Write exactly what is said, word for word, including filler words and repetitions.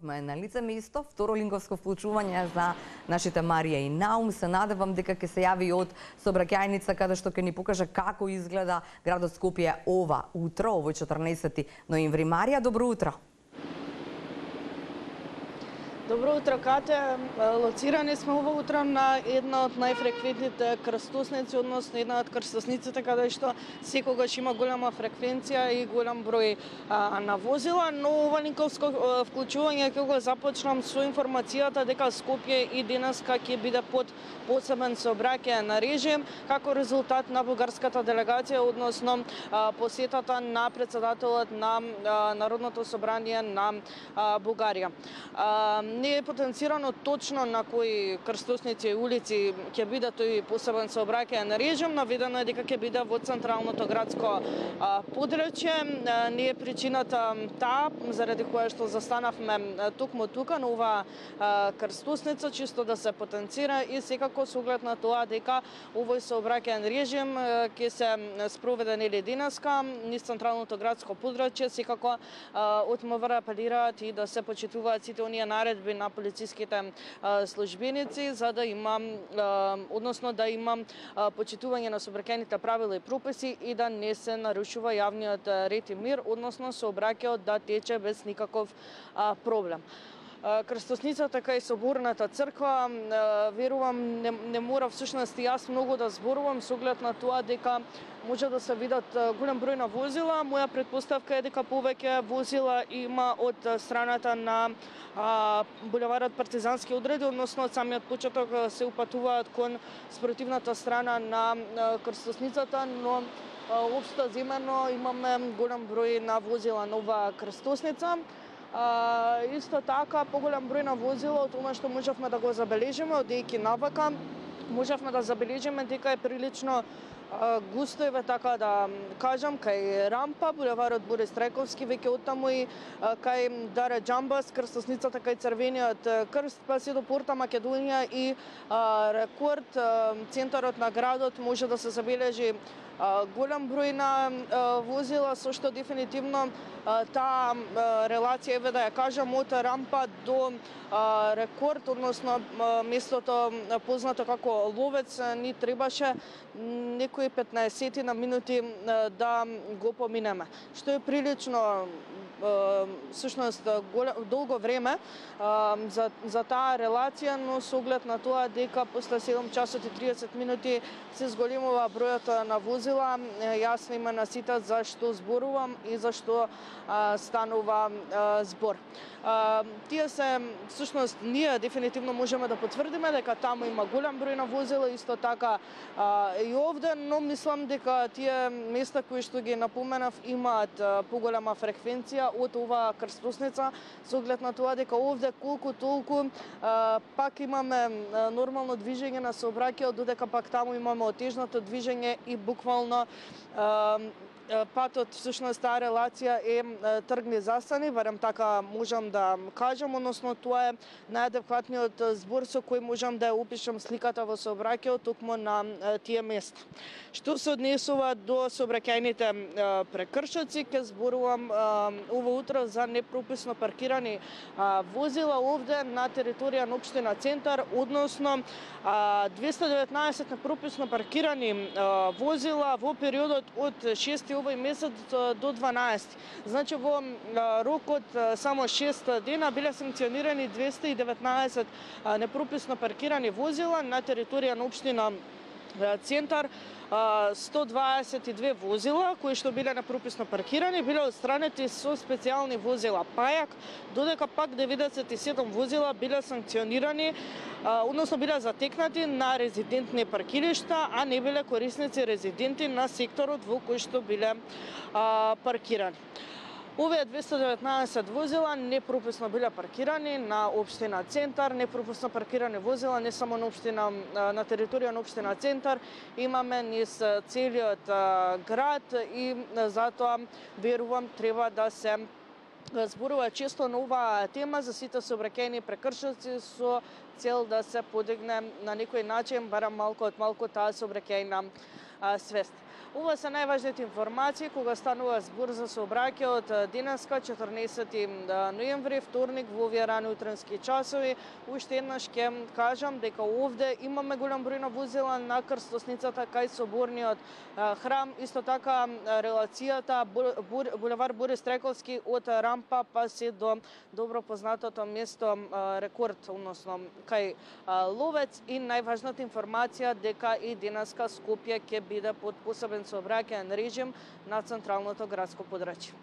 На лице место, второ линковско вклучување за нашите Марија и Наум. Се надевам дека ќе се јави од сообраќајница каде што ќе ни покаже како изгледа градот Скопје ова утро, овој четрнаесети ноември. Марија, добро утро. Добро утро, Кате. Лоцирани сме ова утро на една од најфреквентните крстосници, односно една од крстосниците каде што секогаш има голема фреквенција и голем број а, на возила, но ова линковско вклучување ќе го започнам со информацијата дека Скопје и денеска ќе биде под посебен сообраќајен режим како резултат на бугарската делегација, односно а, посетата на председателот на а, Народното собрание на а, Бугарија. А, Не е потенцирано точно на кои крстосници и улици ќе биде тој посебен сообраќајен режим, наведено е дека ќе биде во централното градско подрачје. Не е причината таа заради која што застанавме токму тука на оваа крстосница, чисто да се потенцира и секако со оглед на тоа дека овој сообраќајен режим ќе се спроведе нели денеска низ централното градско подрачје, секако од МВР апелираат и да се почитуваат сите оние наредби на полициските службеници за да има односно да има почитување на сообраќајните правила и прописи и да не се нарушува јавниот ред и мир, односно сообраќајот да тече без никаков проблем. Крстосницата кај соборната црква, верувам, не, не мора всушност јас многу да зборувам со оглед на тоа дека може да се видат голем број на возила. Моја претпоставка е дека повеќе возила има од страната на а, булеварот Партизански одреди, односно од самиот почеток се упатуваат кон спротивната страна на крстосницата, но општо земено имаме голем број на возила на оваа крстосница. А, исто така, поголем број на возила, од тоа што можевме да го забележиме, одејќи навака, можевме да забележиме дека е прилично а, густо, еве така да кажам, кај рампа, булеварот Борис Трајковски, веќе оттаму и а, кај Даре Џамбас, крстосницата кај Црвениот крст, па се до Порта Македонија и а, Рекорд, а, центарот на градот може да се забележи а, голем број на а, возила, со што дефинитивно таа релација, еве да ја кажам, од рампа до а, Рекорд, односно местото познато како Ловец, ни требаше некои петнаесет на минути да го поминеме, што е прилично всушност долго време за, за таа релација, но со оглед на тоа дека после седум часот и триесет минути се зголемува бројот на возила, јасно има на сите за што зборувам и за што а, станува а, збор. А, тие се, всушност, ние дефинитивно можеме да потврдиме дека таму има голем број на возила, исто така а, и овде, но мислам дека тие места кои што ги напоменав имаат а, поголема фреквенција од оваа крстосница, со оглед на тоа дека овде колку толку а, пак имаме а, нормално движење на сообраќајот, додека пак таму имаме отежното движење и буквално а, патот, всушност таа релација е тргни застани, барем така можам да кажам, односно тоа е најадекватниот збор со кој можам да ја опишам сликата во сообраќајот токму на тие места. Што се однесува до сообраќајните прекршоци, ќе зборувам ова утро за непрописно паркирани возила овде на територија на општина Центар, односно двесте и деветнаесет непрописно паркирани возила во периодот од шести овој месец до дванаесети. Значи во рок од само шест дена биле санкционирани двесте и деветнаесет непрописно паркирани возила на територија на општина Центар. сто дваесет и две возила кои што биле непрописно паркирани биле отстранети со специјални возила пајак, додека пак деветдесет и седум возила биле санкционирани, односно биле затекнати на резидентни паркиришта, а не биле корисници резиденти на секторот во кој што биле а, паркирани. Овие двесте и деветнаесет возила непрописно биле паркирани на општина Центар, непрописно паркирани возила не само на општина на територија на општина Центар, имаме низ целиот град и затоа верувам треба да се зборува често на оваа тема за сите сообраќајни прекршоци со цел да се подигне на некој начин, барам малку од малку таа сообраќајна свест. Ова се најважните информации кога станува збор за сообраќај од денеска, четрнаесети ноември, вторник, во овие рани утренски часови. Уште еднаш ќе кажам дека овде имаме голем број на возила на крстосницата кај соборниот храм, исто така релацијата булевар Борис Трековски од рампа па се до добро познатото место Рекорд, односно кај Ловец, и најважната информација дека и денеска Скопје ќе биде под посебен сообраќајен режим на централното градско подрачје.